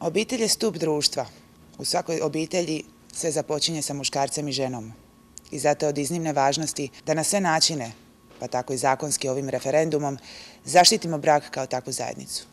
Obitelj je stup društva. U svakoj obitelji sve započinje sa muškarcem i ženom. I zato je od iznimne važnosti da na sve načine, pa tako i zakonski ovim referendumom, zaštitimo brak kao takvu zajednicu.